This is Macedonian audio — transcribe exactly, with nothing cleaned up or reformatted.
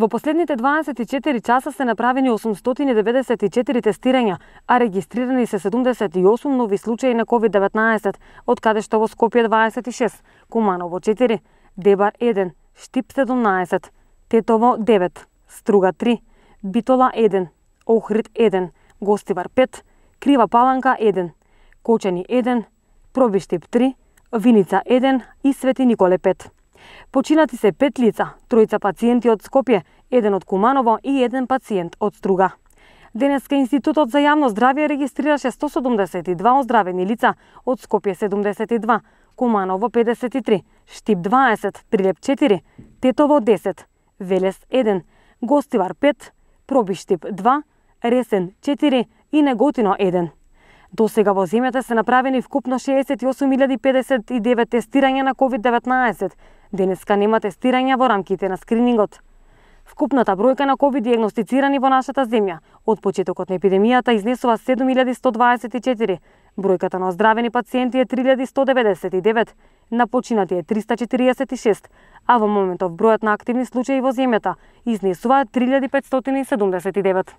Во последните дваесет и четири часа се направени осумстотини деветдесет и четири тестирања, а регистрирани се седумдесет и осум нови случаи на ковид деветнаесет, од каде што во Скопје дваесет и шест, Куманово четири, Дебар еден, Штип седумнаесет, Тетово девет, Струга три, Битола еден, Охрид еден, Гостивар пет, Крива Паланка еден, Кочани еден, Пробиштип три, Виница еден и Свети Николе пет. Починати се пет лица, тројца пациенти од Скопје, еден од Куманово и еден пациент од Струга. Денеска Институтот за јавно здравје регистрираше сто седумдесет и два оздравени лица, од Скопје седумдесет и два, Куманово педесет и три, Штип дваесет, Прилеп четири, Тетово десет, Велес еден, Гостивар пет, Пробиштип два, Ресен четири и Неготино еден. До сега во земјата се направени вкупно шеесет и осум илјади педесет и девет тестирања на ковид деветнаесет. Денеска нема тестирања во рамките на скринингот. Вкупната бројка на ковид диагностицирани во нашата земја од почетокот на епидемијата изнесува седум илјади сто дваесет и четири. Бројката на оздравени пациенти е три илјади сто деветдесет и девет, на починати е триста четириесет и шест, а во моментов бројот на активни случаи во земјата изнесува три илјади петстотини и седумдесет и девет.